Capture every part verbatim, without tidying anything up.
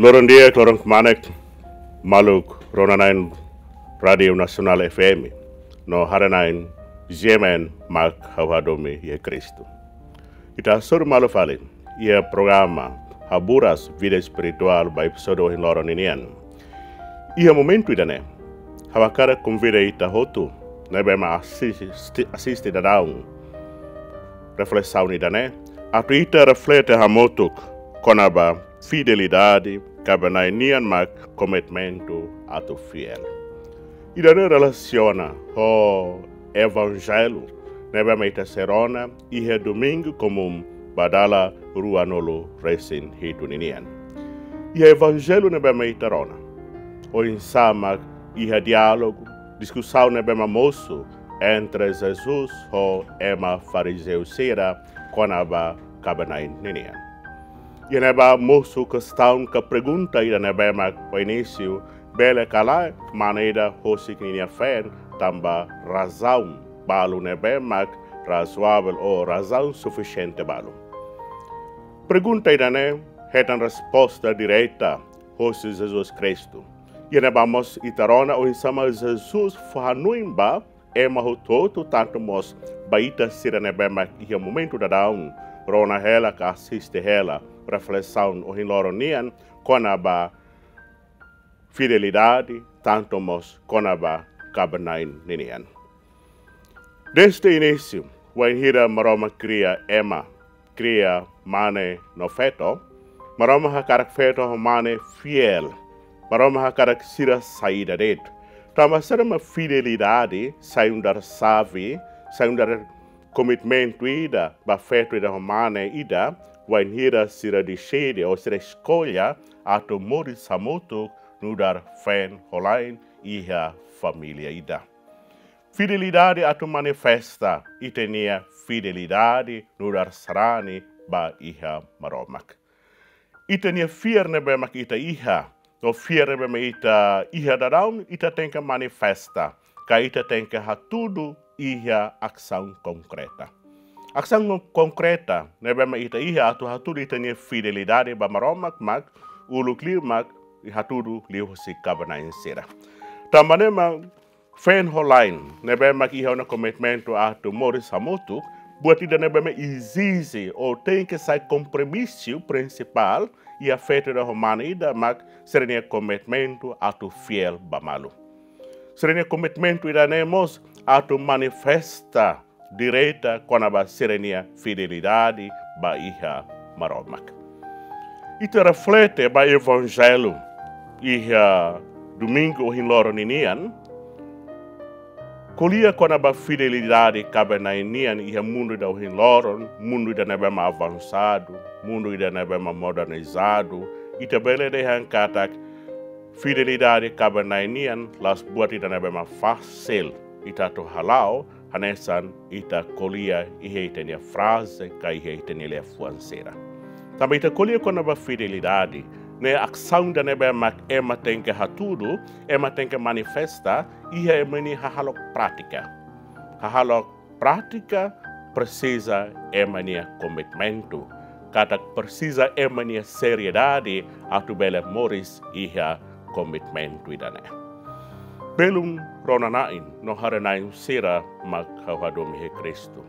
Loron di'ak, loron kmanek, maluk rona-na'in Rádiu Nasionál F M no haree-na'in G M N mak ha'u hadomi iha Kristu. Ita hasoru malu fali iha programa Haburas Vida Espirituál ba epizódiu ohin loron ninian. Iha momentu ida-ne'e, ha'u hakarak konvida ita hotu ne'ebé mak asiste, asiste daudaun reflesaun ida-ne'e, atu ita reflete hamutuk kona-ba fidelidade, kaben-na'in nian mak komitmentu atu fiél. Ida-ne'e relasiona ho evanjellu ne'ebé mak ita sei rona iha Domingu Komún ba dala ruanulu-resin-hitu ninian. Iha evanjellu ne'ebé mak ita rona, oinsá mak iha diálogu, diskusaun ne'ebé mak mosu entre Jesus ho ema farizeu sira kona-ba kaben-na'in ninian. Iha ne'ebá mosu kestaun ka pergunta ida ne'ebé mak ho inísiu bele ka lae, mane ida husik ninia feen tanba razaun balu ne'ebé mak razoavel ou razaun sufisiente balu. Pergunta ida-ne'e hetan resposta direta hosi Jesus Kristu. Iha ne'ebá mós ita rona oinsá mak Jesus fó hanoin ba ema hotu-hotu, tantu mós ba ita sira ne'ebé mak iha momentu daudaun rona hela ka asiste hela reflesaun ohin loron nian kona-ba fidelidade, tantu mós kona-ba kaben-na'in ninian. Dezde inísiu, wainhira Maromak kria ema, kria mane no feto, Maromak hakarak feto ho mane fiél. Maromak hakarak sira saida de'it. Tanba saida mak fidelidade sai nu'udar xave, sai nu'udar komitmentu ida ba feto ida ho mane ida, wainhira sira deside ou sira eskolla atu moris hamutuk nu'udar feen-ho-la'en iha família ida. Fidelidade atu manifesta ita-nia fidelidade nu'udar sarani ba iha Maromak. Ita-nia fiar ne'ebé mak ita iha, no fiar ne'ebé mak ita iha daudaun, ita tenke manifesta, ka ita tenke hatudu iha asaun konkreta. Asaun konkreta ne'ebé mak ita iha atu hatudu ita-nia fidelidade ba Maromak mak uluk liu mak hatudu liuhusi kaben-na'in sira. Tanba ne'e mak feen-ho-la'en ne'ebé mak iha ona komitmentu atu moris hamutuk, buat ida ne'ebé mak ezije ou tenke sai kompromisu prinsipál iha feto ida ho mane ida mak sira-nia komitmentu atu fiél ba malu. Sira-nia komitmentu ida-ne'e mós atu manifesta direta kona-ba sira-nia fidelidade ba iha Maromak. Ita reflete ba evanjellu iha Domingu ohin loron ninian, ko'alia kona-ba fidelidade kaben-na'in nian iha mundu ida ohin loron, mundu ida ne'ebé mak avansadu, mundu ida ne'ebé mak modernizadu, ita bele dehan katak fidelidade kaben-na'in nian la'ós buat ida ne'ebé mak fasil ita atu hala'o, hanesan ita ko'alia iha ita-nia fraze ka iha ita-nia liafuan sira. Tanba ita ko'alia kona-ba fidelidade, ne'e asaun ida ne'ebé mak ema tenke hatudu, ema tenke manifesta iha ema nia hahalok prátika. Hahalok prátika presiza ema nia komitmentu, katak presiza ema nia seriedade atu bele moris iha komitmentu ida-ne'e. Belun rona-na'in no haree-na'in sira mak ha'u hadomi iha Kristu.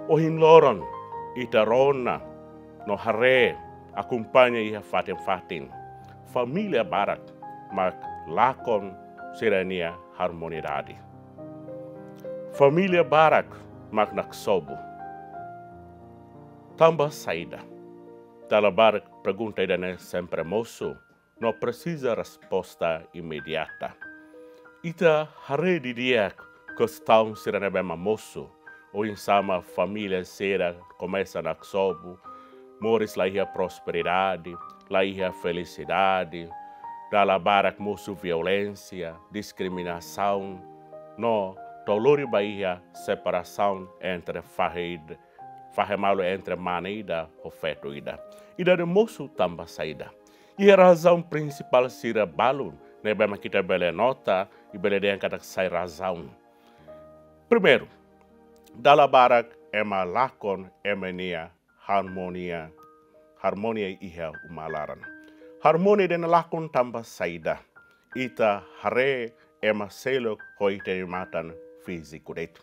Ohin loron ita rona no haree, akompaña iha fatin-fatin, família barak mak lakon sira-nia harmonidade. Família barak mak naksobu. Tanba saida? Dala barak pergunta ida-ne'e sempre mosu no presiza resposta imediata. Ita haree didi'ak kestaun sira ne'ebé mak mosu, oinsá mak família sira komesa naksobu, moris la iha prosperidade, la iha felisidade, dala barak mosu violénsia, diskriminasaun, no to'o lori ba iha separasaun entre fahe id-, fahe malu entre mane ida ho feto ida. Ida-ne'e mosu tanba saida? Iha razaun prinsipál sira balu ne'ebé mak ita bele nota, i bele dehan katak sai razaun. Primeiru, dala barak ema lakon ema nia harmonia, harmonia iha uma laran. Harmonia ida-ne'e lakon tanba saida? Ita haree ema seluk ho ita-nia matan fíziku de'it.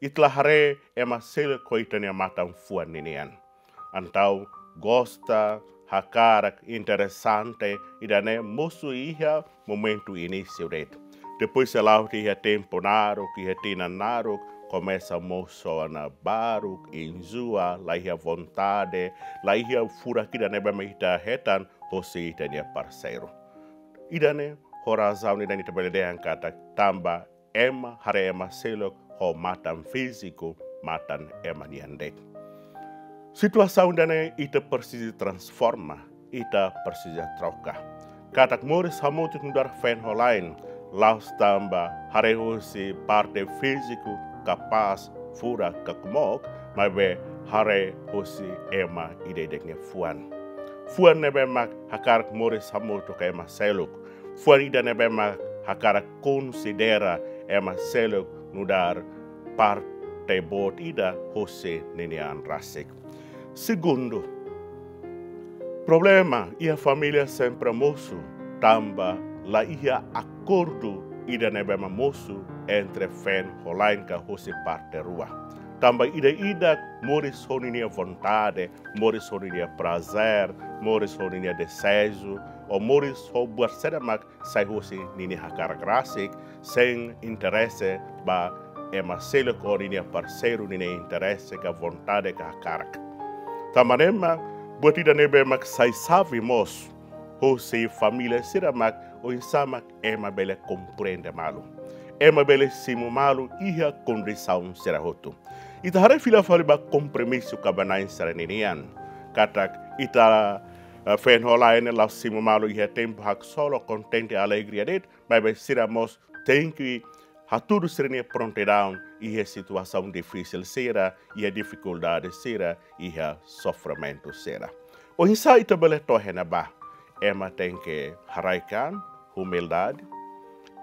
Ita la haree ema seluk ho ita-nia matan fuan ninian. Entaun gosta, hakarak, interesante, ida-ne'e mosu iha momentu inísiu de'it. Depois sei la'o tiha iha tempu naruk, iha tinan naruk, komesa mosu ona baruk, enjoa, la iha vontade, la iha furak ida ne'ebé mak ita hetan hosi ita-nia parseiru. Ida-ne'e ho razaun ida-ne'e ita bele dehan katak tanba ema haree ema seluk ho matan fíziku, matan ema nian de'it. Situasaun ida-ne'e ita presiza transforma, ita presiza troka. Katak moris hamutuk nu'udar feen-holan, la'ós tanba haree hosi parte fíziku, kapás, furak ka kmook, maibé haree hosi ema ida-idak nia fuan. Fuan ne'ebé mak hakarak moris hamutuk ho ema seluk. Fuan ida ne'ebé mak hakarak konsidera ema seluk nu'udar parte boot ida hosi ninia an rasik. Segundu, problema iha família sempre mosu tanba la iha akordu ida ne'ebé mak mosu entre feen-holan ka hosi parte rua. Tanba ida-idak moris ho ninia vontade, moris ho ninia prazer, moris ho ninia dezeju, ou moris ho buat saida mak sai hosi ninia hakarak rasik, sein interese ba ema seluk ou ninia parseiru ninia interese ka vontade ka hakarak. Tanba ne'e mak buat ida ne'ebé mak sai xave mós hosi família sira mak oinsá mak ema bele komprende malu. Ema bele simu malu iha kondisaun sira hotu. Ita haree fila fali ba kompromisu kaben-na'in sira ninian. Katak ita, eh, feen-holan ne'e la'ós simu malu iha tempu haksolok, kontente, alegria de'it, maibé sira mós tenke hatudu sira-nia prontidaun iha situasaun difisil sira, iha difikuldade sira, iha sofrimentu sira. Oinsá ita bele to'o iha ne'ebá? Ema tenke haraik an, umildade.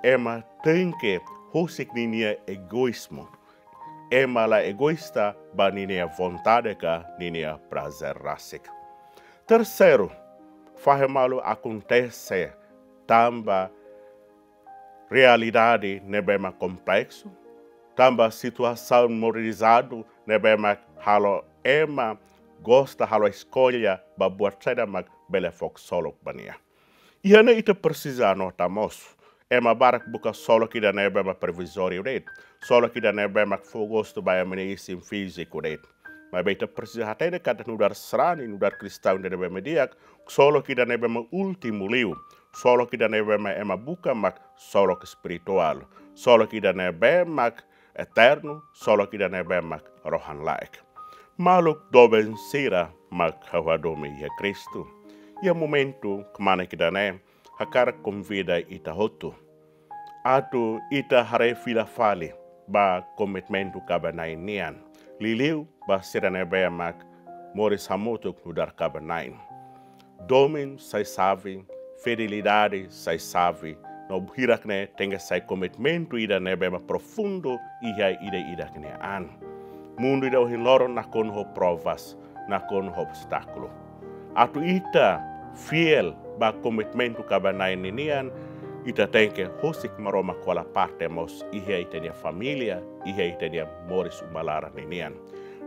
Ema tenke husik ninia egoízmu. Ema la egoísta ba ninia vontade ka ninia prazer rasik. Terseiru, fahe malu akontese tanba realidade ne'ebé mak kompleksu, tanba situasaun modernizadu ne'ebé mak halo ema gosta halo eskolla ba buat saida mak bele fó ksolok ba nia. Iha ne'e ita presiza anota mós. Ema barak buka ksolok ida ne'ebé mak provizóriu de'it. Ksolok ida ne'ebé mak fó gostu ba ema nia isin fíziku de'it. Maibé ita presiza hatene katak nu'udar sarani, nu'udar kristaun ida ne'ebé mak di'ak, ksolok ida ne'ebé mak últimu liu, ksolok ida ne'ebé mak ema buka mak ksolok espirituál, ksolok ida ne'ebé mak eternu, ksolok ida ne'ebé mak rohan-laek. Maluk doben sira mak ha'u hadomi iha Kristu. Iha momentu kmanek ida-ne'e, hakarak konvida ita hotu atu ita haree fila fali ba komitmentu kaben-na'in nian. Liuliu ba sira ne'ebé mak moris hamutuk nu'udar kaben-na'in. Domin sai xave, fidelidade sai xave, no hirak-ne'e tenke sai komitmentu ida ne'ebé mak profundu iha ida-idak nia an. Mundu ida ohin loron nakonu ho provas, nakonu ho obstákulu. Atu ita fiél ba komitmentu kaben-na'in ninian, ita tenke husik Maromak hola parte mós iha ita-nia família, iha ita-nia moris uma laran ninian.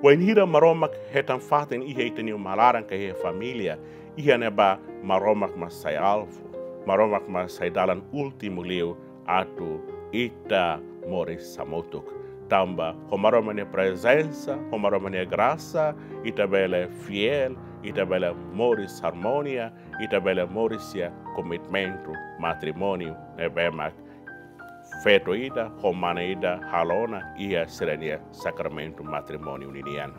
Wainhira Maromak hetan fatin iha ita-nia uma laran ka iha família, iha ne'ebá Maromak mak sai alvu, Maromak mak sai dalan últimu liu atu ita moris hamutuk. Tanba ho Maromak nia prezensa, ho Maromak nia grasa, ita bele fiél, ita bele moris harmonia, ita bele moris iha komitmentu matrimóniu ne'ebé mak feto ida ho mane ida halo ona iha sira-nia sakramentu matrimóniu ninian.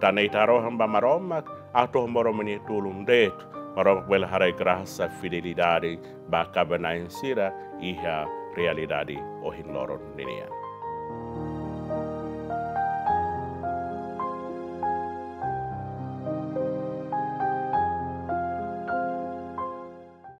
Tan ne'e ita harohan ba Maromak, atu ho Maromak nia tulun de'it, Maromak bele haraik grasa fidelidade ba kaben-na'in sira iha realidade ohin loron ninian.